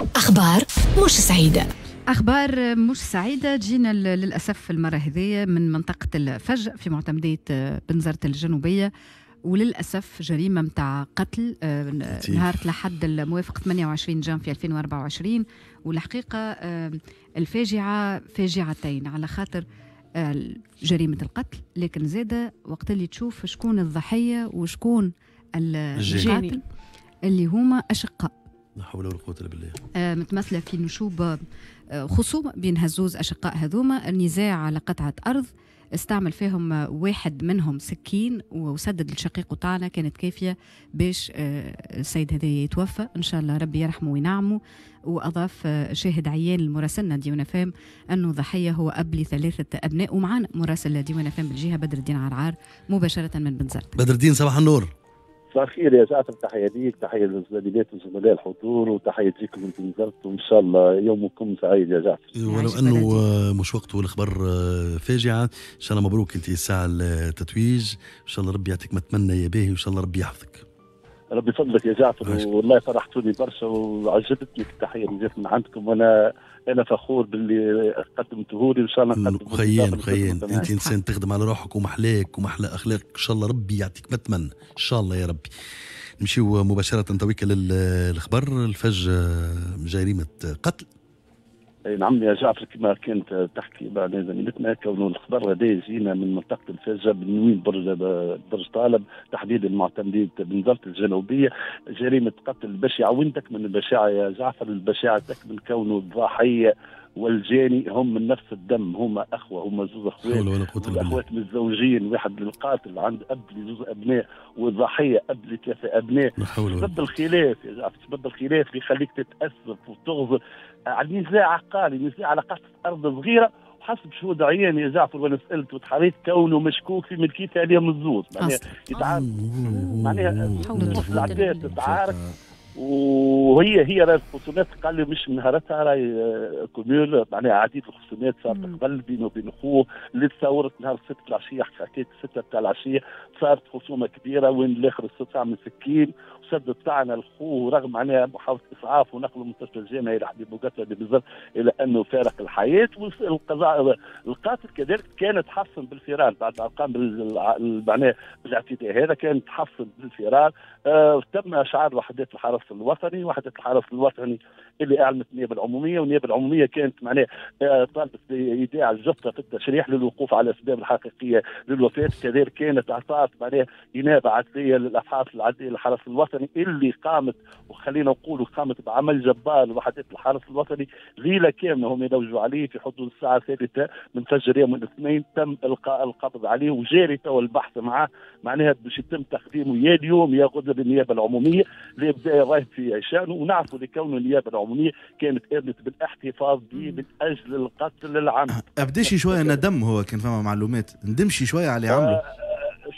أخبار مش سعيدة. أخبار مش سعيدة جينا للأسف المرة هذه من منطقة الفج في معتمدية بنزرت الجنوبية، وللأسف جريمة متاع قتل نهار لحد الموافق 28 جانفي 2024. والحقيقة الفاجعة فاجعتين على خاطر جريمة القتل، لكن زادة وقت اللي تشوف شكون الضحية وشكون القاتل اللي هما أشقاء. لا حول ولا قوة إلا بالله. متمثلة في نشوب خصومة بين هزوز أشقاء هذوما، النزاع على قطعة أرض استعمل فيهم واحد منهم سكين وسدد الشقيق طعنة كانت كافية باش السيد هذا يتوفى، إن شاء الله ربي يرحمه وينعمه. وأضاف شاهد عيان المراسلنا ديوان فام أنه ضحية هو أب لثلاثة أبناء. ومعنا مراسل ديوان فام بالجهة بدر الدين عرعار مباشرة من بنزرت. بدر الدين صباح النور. صباح الخير يا جعفر، تحية ليك، تحية للزميلات وزملاء الحضور، وتحية ليكم من بنزرت، وإن شاء الله يومكم سعيد يا جعفر. ولو أنه مش وقته الخبر فاجعة، إن شاء الله مبروك أنت الساعة التتويج، إن شاء الله ربي يعطيك ما تمنى يا باهي، وإن شاء الله ربي يحفظك. ربي يفضلك يا جعفر، والله فرحتوني برشا وعجبتني التحية اللي جات من عندكم، وأنا فخور باللي قدمته لي، وإن شاء الله نقدم. خيان أنت إنسان تخدم على روحك ومحلاك ومحلى أخلاقك، إن شاء الله ربي يعطيك ما تمنى إن شاء الله يا ربي. نمشيو مباشرة تويك للخبر. الفج جريمة قتل. اي نعم يا جعفر، كما كانت تحكي مع زميلتنا، كونه الخبر هذا يجينا من منطقة الفجه من وين برج طالب، تحديدا معتمديه بنزرت الجنوبية، جريمة قتل بشعة. وين تكمن البشاعه يا جعفر؟ البشاعه تكمن كونه الضحية والجاني هم من نفس الدم، هما اخوه، هما زوج اخوات، الاخوات متزوجين، واحد للقاتل عند اب لزوج ابناء، والضحيه اب لثلاثة ابناء. سبب الخلاف يا جعفر، سبب الخلاف اللي يخليك تتاثر وتغزر على نزاع عقاري، نزاع على قطعه ارض صغيرة، وحسب شهود عيان يا جعفر وانا سالت وتحريت كونه مشكوك في ملكيتها عليهم الزوز، معناها يتعارك، معناها العباد تتعارك، وهي راهي الخصومات قال لي مش نهارتها، راهي cumul، معناها عديد الخصومات صارت قبل بينه وبين اخوه، اللي تصورت نهار السبت العشية، حكيت 6 تاع العشية، صارت خصومه كبيرة وين الاخر استعمل سكين وسدد طعنه لخوه، رغم معناها محاولة اسعاف ونقله المستشفى الجامعي لحبيب بوقتها بالضبط، الى انه فارق الحياة. والقضاء القاتل كذلك كان تحصن بالفرار بعد ما قام معناها بالاعتداء هذا، كان تحصن بالفرار. تم اشعار وحدات الحرس الوطني، وحدة الحرس الوطني اللي اعلنت النيابة العمومية، والنيابه العمومية كانت معناها طالبت بايداع الجثة في التشريح للوقوف على الاسباب الحقيقية للوفاه، كذلك كانت اعطت معناها انابه عدليه للابحاث العدليه للحرس الوطني اللي قامت، وخلينا نقولوا قامت بعمل جبار وحدات الحرس الوطني ليلة كاملة هم يلوجوا عليه. في حدود الساعة 3 من فجر يوم الاثنين تم القاء القبض عليه، وجاري تو البحث معاه، معناها باش يتم تقديمه يا اليوم يا غدا للنيابه العمومية لابداء الراي في عشان. ونعرفوا لكون النيابة العمومية كانت قامت بالاحتفاظ به من اجل القتل العمد. ابديش شوية ندم، هو كان فما معلومات ندمشي شوية على اللي عمله.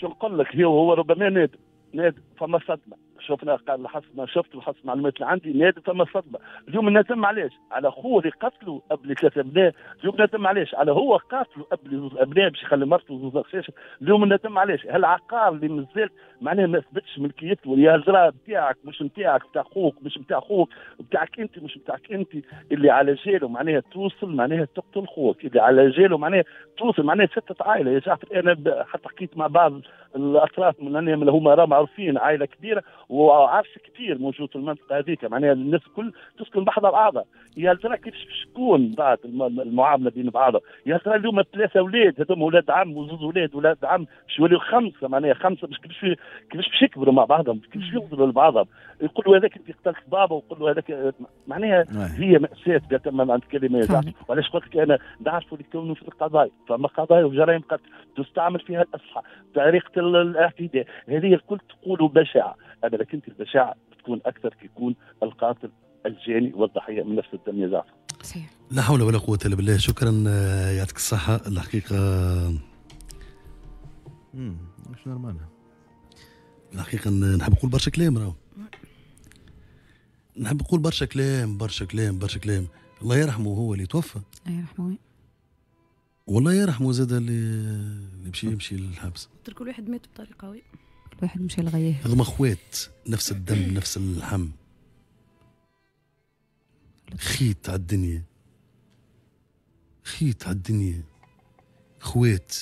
شو نقول لك، هو ربما نادم، فما صدمة، شفنا قال حسب ما شفت وحسب المعلومات اللي عندي نادم، فما صدمة. اليوم ندم علاش؟ على خوه اللي قتلوا قبل 3 ابناء، اليوم ندم علاش؟ على هو قاتلوا قبل 2 ابناء باش يخلي مرته 2 غشاشه، اليوم ندم علاش؟ هالعقار اللي مازال معناها ما اثبتش ملكيته، يا زرا نتاعك مش نتاعك، نتاع خوك مش نتاع خوك، نتاعك انت مش نتاعك انت، اللي على جاله معناها توصل معناها تقتل خوك، اللي على جاله معناها توصل معناها ستة عائلة يا جعفر. انا حتى حكيت مع بعض الاطراف من اللي هما راه معروفين، عائلة كبيرة وعرش كبير موجود في المنطقة هذيك، معناها الناس الكل تسكن بحذا بعضها. يا ترى كيفاش باش تكون بعد المعاملة بين بعضها؟ يا ترى اليوم 3 اولاد هذوما اولاد عم وزوز اولاد عم باش يوليو 5، معناها 5 باش كيفاش باش يكبروا مع بعضهم، كيفاش يوصلوا لبعضهم؟ يقولوا هذاك انت قتلت بابا، ويقولوا هذاك، معناها هي مأساة تم عند كلمة يا جعفر. وعلاش قلت لك انا نعرفوا اللي كونوا في القضايا، فما قضايا وجرائم قتل تستعمل فيها الاسلحة، طريقه الاعتداء هذه الكل تقولوا بشعة، اما لكن البشاعه تكون اكثر كي يكون القاتل الجاني والضحيه من نفس الدم يا جعفر. صحيح. لا حول ولا قوة الا بالله. شكرا، يعطيك الصحة. الحقيقة مش normal. الحقيقة نحب نقول برشا كلام، راهو نحب نقول برشا كلام برشا كلام برشا كلام. الله يرحمه هو اللي توفى. الله يرحمه. والله يرحمه زاد اللي مشي يمشي للحبس. كل واحد مات بطريقة، oui. كل واحد مشى لغيه. هذوما اخوات، نفس الدم نفس اللحم. خيط على الدنيا، خيط على الدنيا. خوات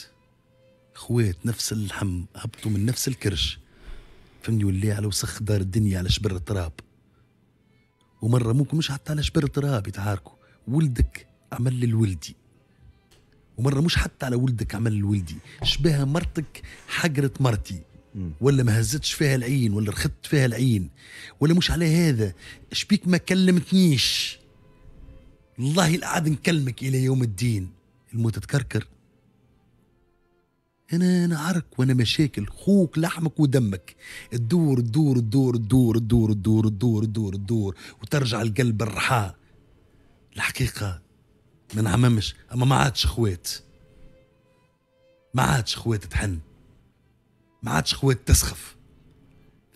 خوات نفس اللحم، هبطوا من نفس الكرش، فهمني؟ ولا على وسخ دار الدنيا، على شبر التراب. ومرة ممكن مش حتى على شبر التراب يتعاركوا، ولدك عمل للولدي، ومرة مش حتى على ولدك عمل لولدي، شبهها مرتك حقرت مرتي، ولا ما هزتش فيها العين، ولا رخدت فيها العين، ولا مش على هذا شبيك ما كلمتنيش، والله العاد نكلمك الى يوم الدين. الموت تكركر. انا عرك وانا مشاكل، خوك لحمك ودمك، تدور تدور تدور تدور تدور تدور تدور تدور تدور وترجع القلب الرحاء. الحقيقة ما نعممش، اما ما عادش خوات، ما عادش خوات تحن، ما عادش خوات تسخف.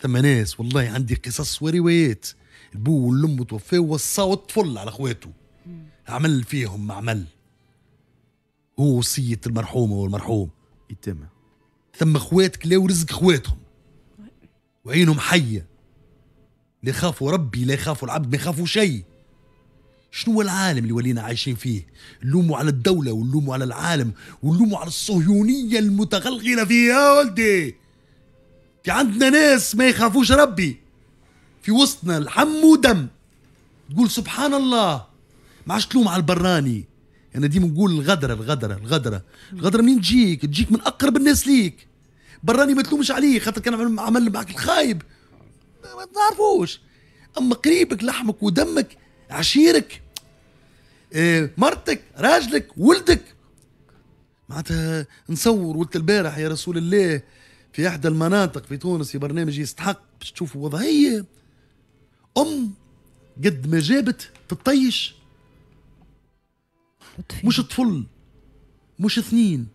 ثم ناس والله عندي قصص وروايات، البو والام توفاو وصاو الطفل على خواته، عمل فيهم ما عمل، هو وصية المرحومة والمرحوم يتم. ثم خوات كلاو رزق خواتهم وعينهم حية، لا يخافوا ربي، لا يخافوا العبد، ما يخافوا شيء. شنو هو العالم اللي ولينا عايشين فيه؟ نلوموا على الدولة ونلوموا على العالم ونلوموا على الصهيونية المتغلغلة فيه. يا ولدي في عندنا ناس ما يخافوش ربي في وسطنا، لحم ودم. تقول سبحان الله، ما عادش تلوم على البراني. انا ديما نقول الغدره الغدره الغدره الغدره منين تجيك؟ تجيك من اقرب الناس ليك. براني ما تلومش عليه خاطر كان عمل معك الخايب ما تعرفوش، اما قريبك لحمك ودمك، عشيرك، مرتك، راجلك، ولدك. معناتها نصور ولد البارح يا رسول الله في احدى المناطق في تونس في برنامج يستحق باش تشوفوا وضعية ام قد ما جابت تطيش، مش طفل، مش اثنين،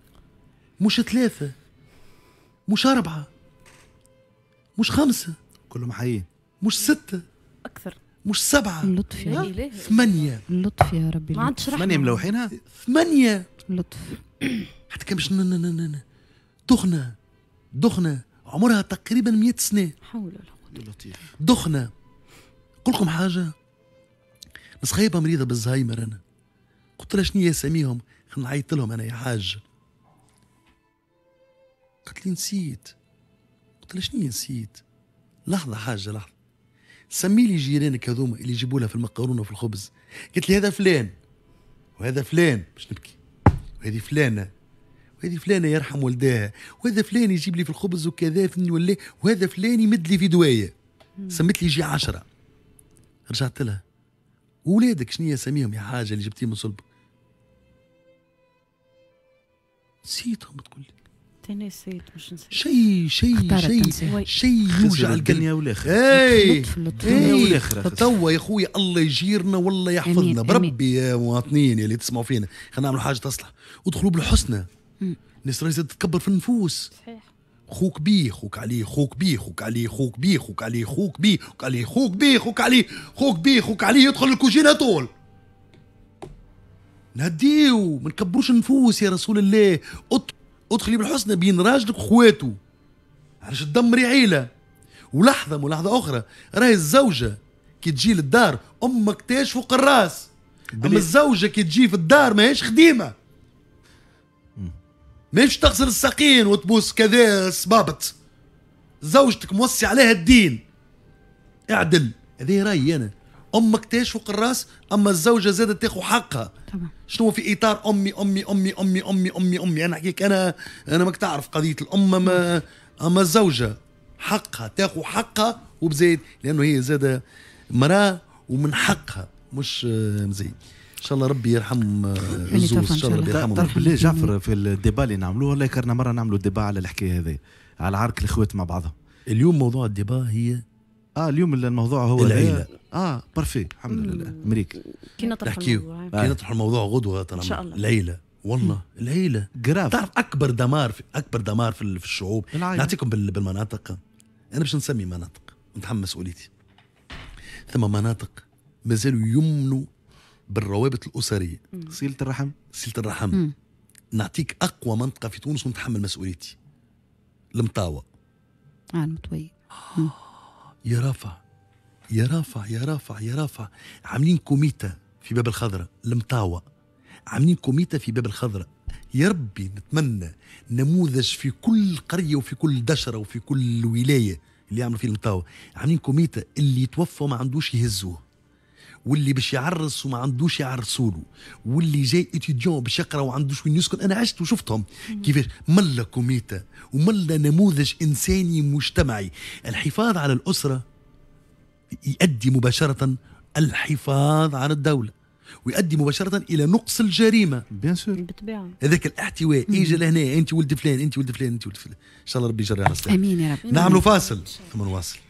مش ثلاثة، مش أربعة، مش خمسة، كلهم حيين، مش ستة، أكثر، مش سبعة، اللطف يا إله، ثمانية. اللطف يا ربي، ما عادش رحمة. ثمانية ملوحينها، ثمانية. اللطف. حتى كان باش دخنة، دخنة عمرها تقريبا 100 سنة. حول ولا قوة. لطيف. دخنة. نقول لكم حاجة، نسخيبها مريضة بالزهايمر. أنا قلت لها شنو اساميهم؟ خلينا نعيط لهم انا يا حاج. قالت لي نسيت. قلت لها شنو نسيت؟ لحظة حاجة لحظة، سمي لي جيرانك هذوما اللي يجيبوا لها في المقارونه وفي الخبز. قالت لي هذا فلان وهذا فلان، باش نبكي، وهذه فلانه وهذه فلانه يرحم والداها، وهذا فلان يجيب لي في الخبز وكذا فني ولا، وهذا فلان يمد لي في دوايه. سميت لي يجي 10. رجعت لها، ولادك شنو اساميهم يا حاجة اللي جبتيه من صلبك؟ نسيتهم. تقول لي تنسيت، مش نسيت شيء شيء شيء شيء يوجع الدنيا والاخرة. اي لطف توا يا خويا الله يجيرنا والله يحفظنا بربي. يا مواطنين اللي تسمعوا فينا، خلينا نعملوا حاجة تصلح، ادخلوا بالحسنى. الناس راهي تتكبر في النفوس. صحيح. خوك بيه خوك عليه، خوك بيه خوك عليه، خوك بيه خوك عليه، خوك بيه خوك عليه، خوك بيه خوك عليه، خوك بيه خوك عليه، يدخل الكوجينه طول. نهديو، ما نكبروش النفوس يا رسول الله. ادخلي بالحسنى بين راجلك وخواته، علاش تدمري عيله؟ ولحظة ملاحظة اخرى، راهي الزوجة كي تجي للدار امك تاج فوق الراس، اما الزوجة كي تجي في الدار ماهيش خديمه، ماهيش تغسل الساقين وتبوس كذا صبابط. زوجتك موصي عليها الدين، اعدل. هذه رايي انا، امك تاج فوق الراس، اما الزوجة زادت تاخذ حقها. طبعا. شنو في اطار امي امي امي امي امي امي امي؟ انا نحكيك انا ماك تعرف قضية الام، ما اما الزوجة حقها تاخذ حقها وبزايد، لانه هي زاده مراة ومن حقها مش مزيد. ان شاء الله ربي يرحم الزوز، ان شاء الله ربي يرحمهم. تعرف بالله جعفر في ال débat اللي نعملوه، والله كرنا مرة نعملوا débat على الحكاية هذه، على عرك الاخوات مع بعضهم. اليوم موضوع ال débat هي اليوم الموضوع هو العيلة. parfait الحمد لله. امريكا كي نطرح الموضوع، كي نطرح الموضوع غدوه ان شاء الله. العيلة والله العيلة grave. تعرف اكبر دمار في اكبر دمار في الشعوب. نعطيكم بالمناطق، انا باش نسمي مناطق نتحمل مسؤوليتي. ثم مناطق مازالوا يمنوا بالروابط الاسرية، صله الرحم، صله الرحم. نعطيك اقوى منطقة في تونس ونتحمل مسؤوليتي، المطاوه. المطويه. يا رافع يا رافع يا رافع يا رافع، عاملين comité في باب الخضراء المطاوة، عاملين comité في باب الخضراء. يا ربي نتمنى نموذج في كل قرية وفي كل دشرة وفي كل ولاية اللي يعملوا فيه المطاوة. عاملين comité اللي يتوفى وما عندوش يهزوه، واللي باش يعرس وما عندوش يعرسوله، واللي جاي étudiant باش يقرا وما عندوش وين يسكن. انا عشت وشفتهم كيفاش ملا comité وملا نموذج انساني مجتمعي. الحفاظ على الاسرة يؤدي مباشرة الحفاظ على الدولة، ويؤدي مباشرة الى نقص الجريمة. bien sûr. بالطبيعة. هذاك الاحتواء، اجي لهنا انت ولد فلان، انت ولد فلان، انت ولد فلان. ان شاء الله ربي يجري على السلامة. امين يا رب. نعملوا فاصل ثم نواصل.